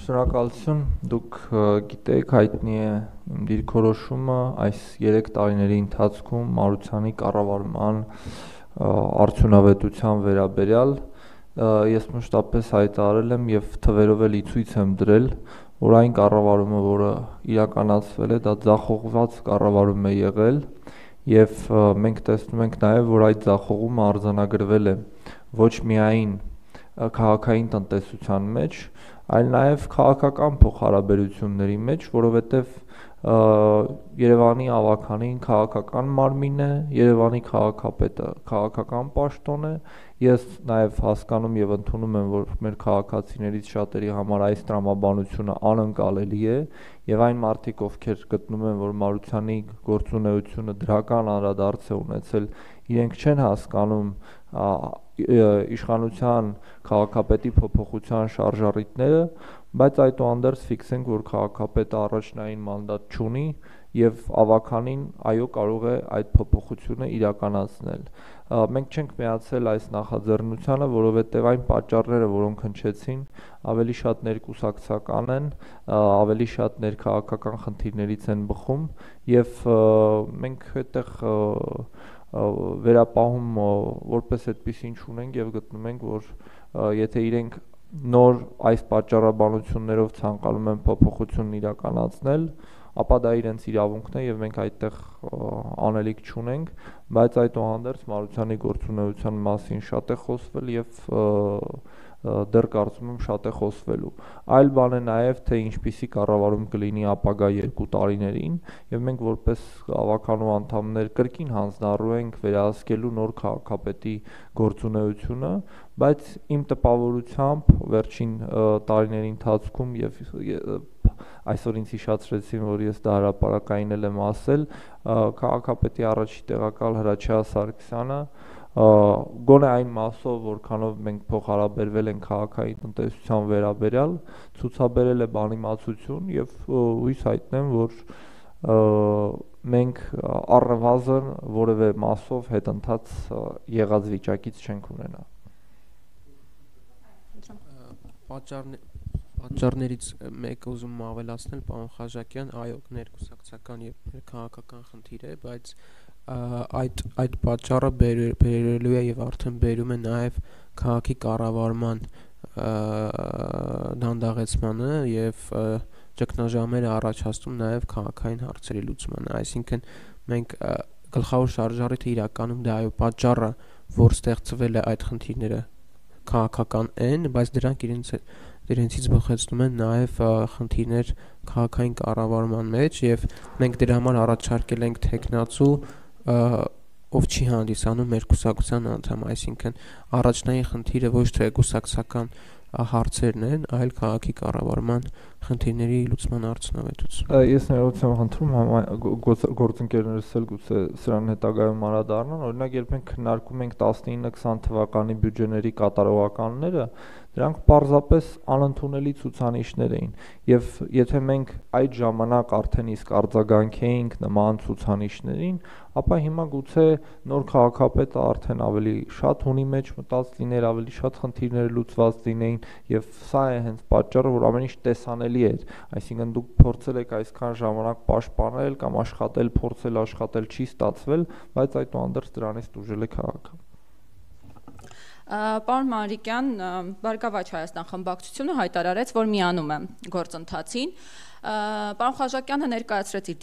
Շնորհակալություն, դուք գիտեք, հայտնի է իմ դիրքորոշումը այս 3 տարիների ընթացքում Մարությանի կառավարման արդյունավետության վերաբերյալ ես մշտապես հայտարարել եմ եւ թվերով էլ ցույց եմ դրել, որ այն կառավարումը, որը իրականացվել է, դա ձախողված կառավարում է եղել եւ մենք տեսնում ենք նաեւ, որ այդ ձախողումը արձանագրվել է ոչ միայն քաղաքային տնտեսության մեջ, այլ նաև քաղաքական փոխհարաբերությունների մեջ, որովհետև Երևանի ավականին քաղաքական մարմին է, Երևանի քաղաքապետը քաղաքական պաշտոն է, ես նաև հասկանում եւ ընդունում եմ, որ մեր քաղաքացիներից շատերի համար այս տրամաբանությունը անընկալելի է եւ այն մարդիկ, ովքեր գտնում են, որ Մարությանի գործունեությունը դրական անդրադարձ է ունեցել, իրենք չեն հասկանում իշխանության քաղաքապետի փոփոխության շարժառիթները, բայց այդուհանդերձ ֆիքսենք, որ քաղաքապետը առաջնային մանդատ չունի եւ ավականին այո կարող է այդ փոփոխությունը իրականացնել։ Մենք չենք միացել այս նախաձեռնությանը, որովհետեւ այն պատճառները, որոնք հնչեցին, ավելի շատ ներկուսակցական են, ավելի շատ ներքաղաքական խնդիրներից են բխում եւ մենք այդտեղ վերապահում որպես այդպեսին չունենք եւ գտնում ենք, որ եթե իրենք նոր այս պատճառաբանություններով ցանկանում են փոփոխություն իրականացնել, ապա դա իրենց իրավունքն է եւ մենք այդտեղ անելիք չունենք, բայց այդուհանդերձ Մարությանի գործունեության մասին շատ է խոսվել եւ դեռ կարծում եմ շատ է խոսվելու։ Այլ բան է նաև, թե ինչպիսի կառավարում կլինի ապագա 2 տարիներին, եւ մենք որպես ավականու անդամներ կրկին հանձնառու ենք վերահսկելու նոր քաղաքապետի գործունեությունը, բայց իմ տպավորությամբ վերջին տարիների ընթացքում եւ այսօր ինձ հիշեցրեցին, որ ես դա հրապարակային եմ ասել, քաղաքապետի առաջի տեղակալ Հրաչյա Սարգսյանը գոնե այն մասով, որքանով մենք փոխհարաբերվել ենք քաղաքային տնտեսության վերաբերյալ, ցուցաբերել է բանիմացություն եւ հույս հայտնեմ, որ մենք առնվազն որևէ մասով հետընթաց եղած վիճակից չենք ունենա։ Պատճառներից մեկը ուզում եմ ավելացնել, պարոն Խաչատրյան, այո, ներկուսակցական եւ քաղաքական խնդիր է, բայց այդ պատճառը բերելու է եւ արդեն բերում է նաեւ քաղաքի կառավարման դանդաղեցմանը եւ ճգնաժամերը առաջացնում նաեւ քաղաքային հարցերի լուծմանը, այսինքն մենք գլխավոր շարժառիթը իրականում դա այո պատճառը, որ ստեղծվել է այդ խնդիրները քաղաքական են, բայց դրանք իրենցից բխեցնում են նաեւ խնդիրներ քաղաքային կառավարման մեջ եւ մենք դրա համար առաջարկել ենք թեկնածու, ով չի հանդիսանում մեր կուսակցության անդամ, այսինքն առաջնային խնդիրը ոչ թե կուսակցական հարցերն են, այլ քաղաքի կառավարման խնդիրների լուծման արդյունավետությունը։ Ես ներողություն եմ խնդրում գործընկերներս էլ գուցե սրան հետագայում անդրադառնան, օրինակ երբ մենք քննարկում ենք 19-20 թվականի բյուջեների կատարողականները, դրանք պարզապես անընդունելի ցուցանիշներ էին եւ եթե մենք այդ ժամանակ արդեն իսկ արձագանքեինք նման ցուցանիշներին, ապա հիմա գուցե նոր քաղաքապետը արդեն ավելի շատ հունի մեջ մտած լիներ, ավելի շատ խնդիրներ լուծված լինեին եւ սա է հենց պատճառը, որ ամեն ինչ տեսանելի էր, այսինքն դուք փորձել եք այսքան ժամանակ պաշտպանել կամ փորձել աշխատել չի ստացվել, բայց այդուհանդերձ դրանից տուժել է քաղաքը։ Պարոն Մանրիկյան, Բարգավաճ Հայաստան խմբակցությունը հայտարարեց, որ միանում է գործընթացին։ Պարոն Խաչատրյանը ներկայացրեց իր